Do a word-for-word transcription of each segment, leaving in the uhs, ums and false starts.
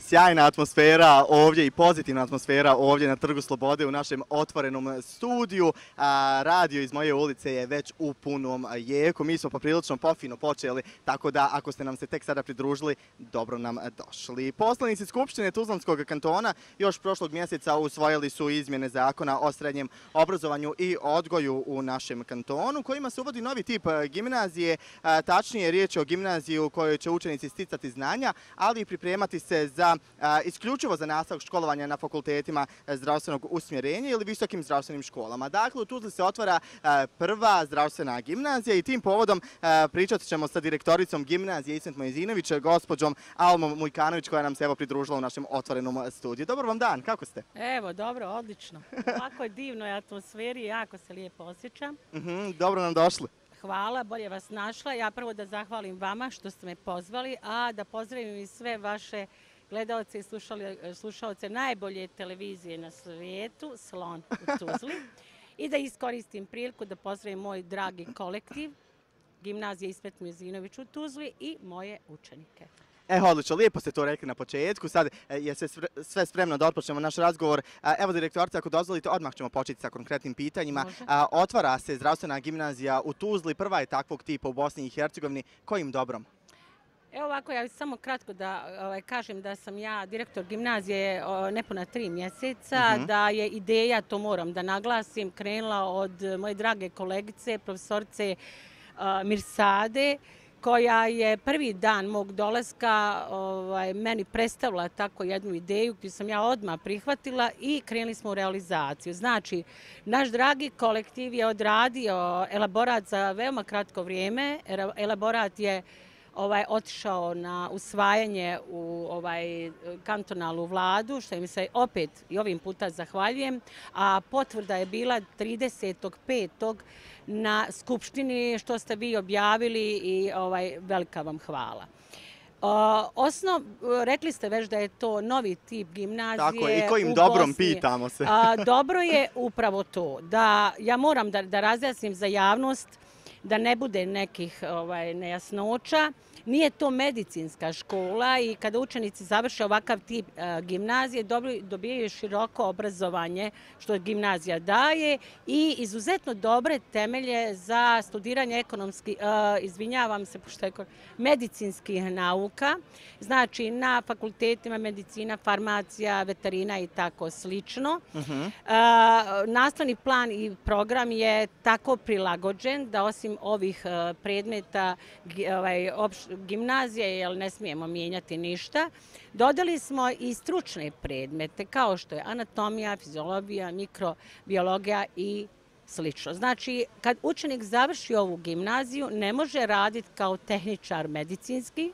sjajna atmosfera ovdje i pozitivna atmosfera ovdje na Trgu Slobode u našem otvorenom studiju. Radio iz moje ulice je već u punom jeku. Mi smo poprilično pofino počeli, tako da ako ste nam se tek sada pridružili, dobro nam došli. Poslanici Skupštine Tuzlanskog kantona još prošlog mjeseca usvojili su izmjene zakona o srednjem obrazovanju i odgoju u našem kantonu, kojima se uvodi novi tip gimnazije, tačnije riječ je o gimnaziji u kojoj će učenici sticati znanja, ali i pripremati se za isključivo za nastavak školovanja na fakultetima zdravstvenog usmjerenja ili visokim zdravstvenim školama. Dakle, u Tuzli se otvara prva zdravstvena gimnazija i tim povodom pričat ćemo sa direktoricom gimnazije Ismet Mojezinović, gospođom Almom Mujkanović, koja nam se evo pridružila u našem otvorenom studiju. Dobar vam dan, kako ste? Evo, dobro, odlično. Ovako je divnoj atmosferi, jako se lijepo osjećam. Dobro nam došli. Hvala, bolje vas našla. Ja prvo da zahvalim vama što ste me pozvali, a da pozdravim i sve vaše gledalce i slušalce najbolje televizije na svijetu, Slon u Tuzli. I da iskoristim priliku da pozdravim moj dragi kolektiv, Gimnazije Ismet Mojezinović u Tuzli i moje učenike. E, odlično, lijepo ste to rekli na početku, sad je sve spremno da otpočnemo naš razgovor. Evo, direktorice, ako dozvolite, odmah ćemo početi sa konkretnim pitanjima. Otvara se zdravstvena gimnazija u Tuzli, prva je takvog tipa u Bosni i Hercegovini. Kojim dobrom? Evo ovako, ja samo kratko da kažem da sam ja direktor gimnazije nepuna tri mjeseca, da je ideja, to moram da naglasim, krenula od moje drage kolegice, profesorice Mirsade, koja je prvi dan mog dolaska meni predstavila tako jednu ideju koju sam ja odmah prihvatila i krenuli smo u realizaciju. Znači, naš dragi kolektiv je odradio elaborat za veoma kratko vrijeme. Elaborat je otišao na usvajanje u kantonalnu vladu, što im se opet i ovim puta zahvaljujem, a potvrda je bila tridesetog petog na Skupštini, što ste vi objavili i velika vam hvala. Osnov, rekli ste već da je to novi tip gimnazije. Tako je, i kojim dobrom pitamo se. Dobro je upravo to, da ja moram da razjasnim za javnost, da ne bude nekih nejasnoća. Nije to medicinska škola i kada učenici završe ovakav tip gimnazije dobijaju široko obrazovanje što gimnazija daje i izuzetno dobre temelje za studiranje ekonomskih, izvinjavam se, medicinskih nauka. Znači na fakultetima medicina, farmacija, veterina i tako slično. Nastavni plan i program je tako prilagođen da osim ovih predmeta gimnazije, jer ne smijemo mijenjati ništa, dodali smo i stručne predmete kao što je anatomija, fiziologija, mikrobiologija i slično. Znači, kad učenik završi ovu gimnaziju, ne može raditi kao tehničar medicinski,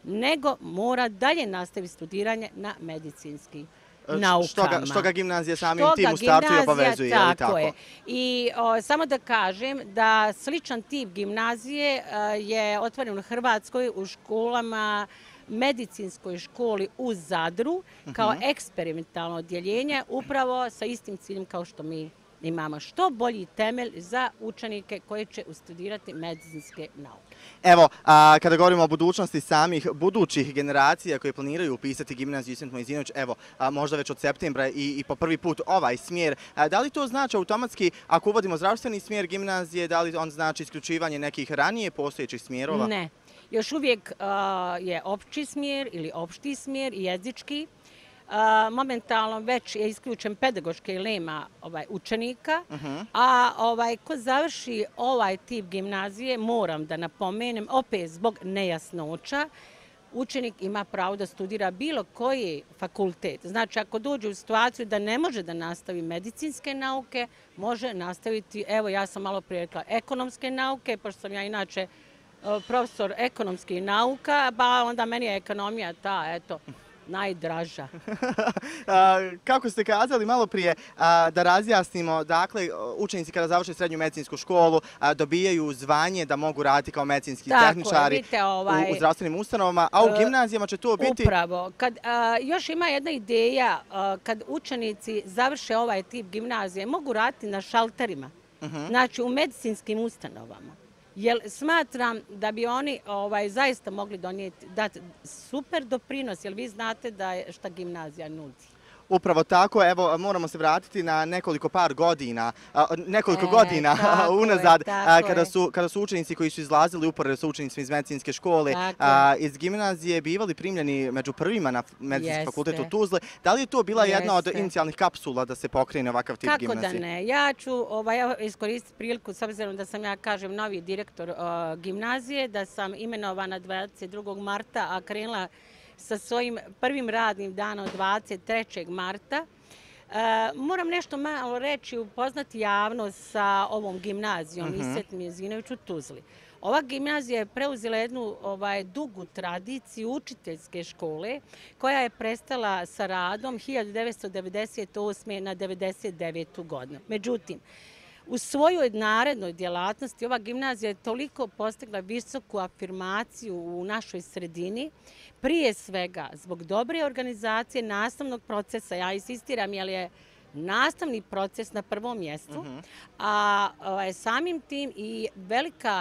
nego mora dalje nastaviti studiranje na medicinski naukama. Što ga gimnazija samim tim u startu i obavezuje, je li tako? I samo da kažem da sličan tip gimnazije je otvoren u Hrvatskoj u školama, medicinskoj školi u Zadru, kao eksperimentalno odjeljenje, upravo sa istim ciljem kao što mi imamo. Što bolji temelj za učenike koji će studirati medicinske nauke. Evo, kada govorimo o budućnosti samih budućih generacija koje planiraju upisati gimnaziju Ismet Mojezinović, evo, možda već od septembra i po prvi put ovaj smjer, da li to znači automatski, ako uvodimo zdravstveni smjer gimnazije, da li on znači isključivanje nekih ranije postojećih smjerova? Ne. Još uvijek je opći smjer ili opšti smjer i jezički. Momentalno već je isključen pedagoški jer nema učenika, a ko završi ovaj tip gimnazije, moram da napomenem, opet zbog nejasnoća, učenik ima pravo da studira bilo koji fakultet. Znači, ako dođe u situaciju da ne može da nastavi medicinske nauke, može nastaviti, evo ja sam malo prije rekla, ekonomske nauke, pošto sam ja inače profesor ekonomskih nauka, pa onda meni je ekonomija ta, eto, najdraža. Kako ste kazali malo prije, da razjasnimo, dakle, učenici kada završe srednju medicinsku školu dobijaju zvanje da mogu raditi kao medicinski tehničari u zdravstvenim ustanovama, a u gimnazijama će to biti... Upravo. Još ima jedna ideja, kad učenici završe ovaj tip gimnazije, mogu raditi na šalterima, znači u medicinskim ustanovama. Jer smatram da bi oni ovaj, zaista mogli donijeti, dati super doprinos, jer vi znate da je šta gimnazija nudi. Upravo tako, evo moramo se vratiti na nekoliko par godina, nekoliko e, godina unazad, je, kada, su, kada su učenici koji su izlazili uporedo sa učenicima iz medicinske škole a, iz gimnazije bivali primljeni među prvima na medicinski fakultet u Tuzli. Da li je to bila Jeste. jedna od inicijalnih kapsula da se pokrene ovakav tip Kako gimnazije? Kako da ne? Ja ću ovaj, iskoristiti priliku, s obzirom da sam ja, kažem, novi direktor uh, gimnazije, da sam imenovana dvadeset drugog marta, a krenula sa svojim prvim radnim danom dvadeset trećeg marta. E, moram nešto malo reći, upoznati javnost sa ovom gimnazijom mm-hmm. Isvet Mijezinović u Tuzli. Ova gimnazija je preuzela jednu ovaj, dugu tradiciju učiteljske škole koja je prestala sa radom hiljadu devetsto devedeset osme na devedeset devetu godinu. Međutim, u svojoj narednoj djelatnosti ova gimnazija je toliko postigla visoku afirmaciju u našoj sredini, prije svega zbog dobre organizacije nastavnog procesa. Ja insistiram jer je nastavni proces na prvom mjestu, uh-huh. a ovaj, samim tim i velika,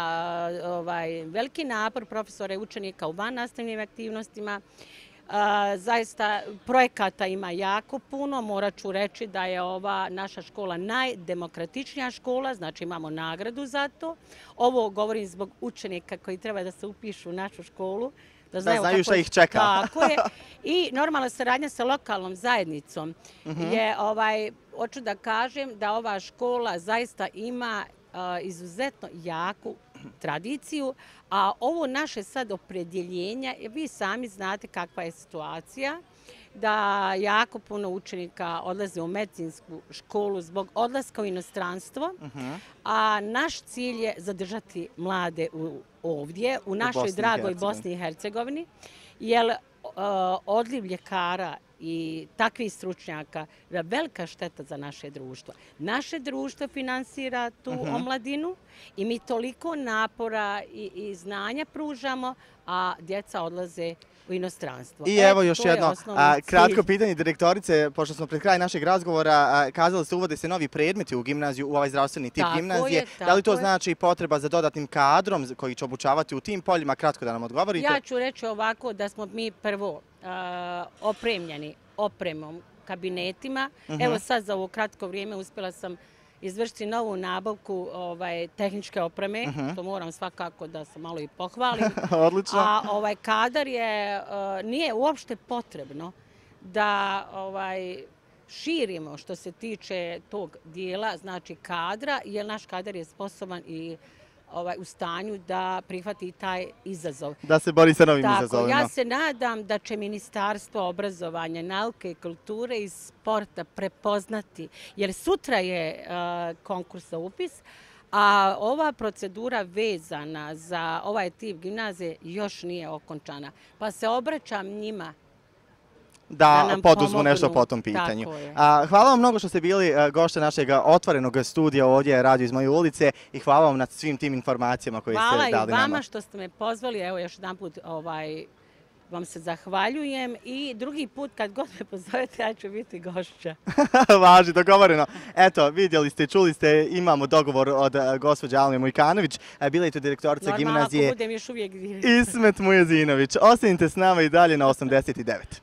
ovaj, veliki napor profesora i učenika u vannastavnim aktivnostima. Uh, zaista projekata ima jako puno. Morat ću reći da je ova naša škola najdemokratičnija škola, znači imamo nagradu za to. Ovo govorim zbog učenika koji treba da se upišu u našu školu. Da znaju, da znaju šta ih čeka. Tako je. I normalna saradnja sa lokalnom zajednicom uh-huh. je, ovaj, hoću da kažem da ova škola zaista ima uh, izuzetno jaku tradiciju, a ovo naše sad opredjeljenja, vi sami znate kakva je situacija, da jako puno učenika odlaze u medicinsku školu zbog odlaska u inostranstvo, uh-huh. a naš cilj je zadržati mlade u, ovdje, u našoj u dragoj Bosni i Hercegovini, jer uh, odliv ljekara i takvih stručnjaka je velika šteta za naše društvo. Naše društvo finansira tu uh-huh. omladinu i mi toliko napora i, i znanja pružamo, a djeca odlaze u inostranstvo. I evo još jedno a, kratko pitanje direktorice, pošto smo pred kraj našeg razgovora, a, kazali ste uvode se novi predmeti u gimnaziju, u ovaj zdravstveni tip tako gimnazije. Je, da li to je. znači potreba za dodatnim kadrom koji će obučavati u tim poljima? Kratko da nam odgovorite. Ja ću reći ovako da smo mi prvo a, opremljeni opremom, kabinetima. Uh-huh. Evo sad za ovo kratko vrijeme uspjela sam izvršiti novu nabavku ovaj, tehničke opreme, uh-huh. to moram svakako da se malo i pohvalim. Odlično. A ovaj kadar je, uh, nije uopšte potrebno da ovaj, širimo što se tiče tog dijela, znači kadra, jer naš kadar je sposoban i ovaj, u stanju da prihvati taj izazov. Da se bori sa novim Tako, izazovima. Ja se nadam da će Ministarstvo obrazovanja, nauke i kulture i sporta prepoznati, jer sutra je uh, konkurs za upis, a ova procedura vezana za ovaj tip gimnazije još nije okončana. Pa se obraćam njima da, da poduzmu pomognu. Nešto po tom pitanju. A, hvala vam mnogo što ste bili gošće našeg otvorenog studija ovdje Radio iz moje ulice i hvala vam na svim tim informacijama koje hvala ste dali nama. Hvala i vama što ste me pozvali. Evo još jedan put ovaj, vam se zahvaljujem i drugi put kad god me pozovete ja ću biti gošća. Važi, dogovoreno. Eto, vidjeli ste, čuli ste, imamo dogovor od gospođe Alme Mujkanović, bila je to direktorica Normalno, gimnazije ako budem još uvijek direktor. Ismet Mijezinović. Ostanite s nama i dalje na osamdeset devet.